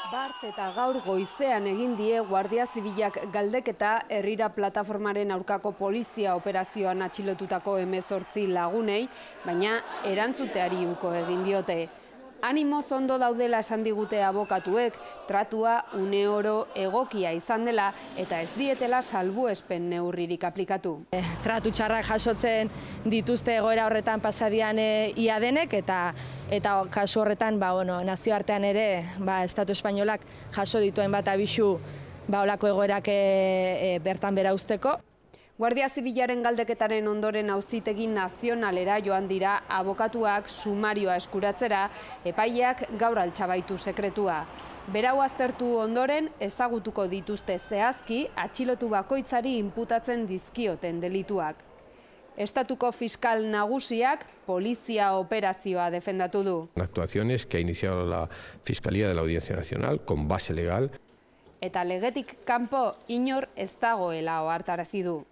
Bart eta gaur goizean egin die Guardia Zibilak galdeketa herrira plataformaren aurkako polizia operazioan atxilotutako 18 lagunei, baina erantzuteari uko egin diote. Animoz ondo daudela esan digute abokatuek, tratua uneoro egokia izan dela eta ez dietela salbuespen neurririk aplikatu. Tratu txarrak jasotzen dituzte egoera horretan pasadian ia denek eta kasu horretan nazioartean ere Estatu Espainolak jaso dituen bat abisu olako egoerak bertan bera uzteko. Guardia Zibilaren galdeketaren ondoren auzitegi nazionalera joan dira abokatuak sumarioa eskuratzera, epaileak gaur altxabaitu sekretua. Berau aztertu ondoren ezagutuko dituzte zehazki atxilotu bakoitzari inputatzen dizkioten delituak. Estatuko fiskal nagusiak polizia operazioa defendatu du. Actuaciones que ha iniciado la Fiscalía de la Audiencia Nacional con base legal. Eta legetik kanpo inor ez dagoela ohartarazi du.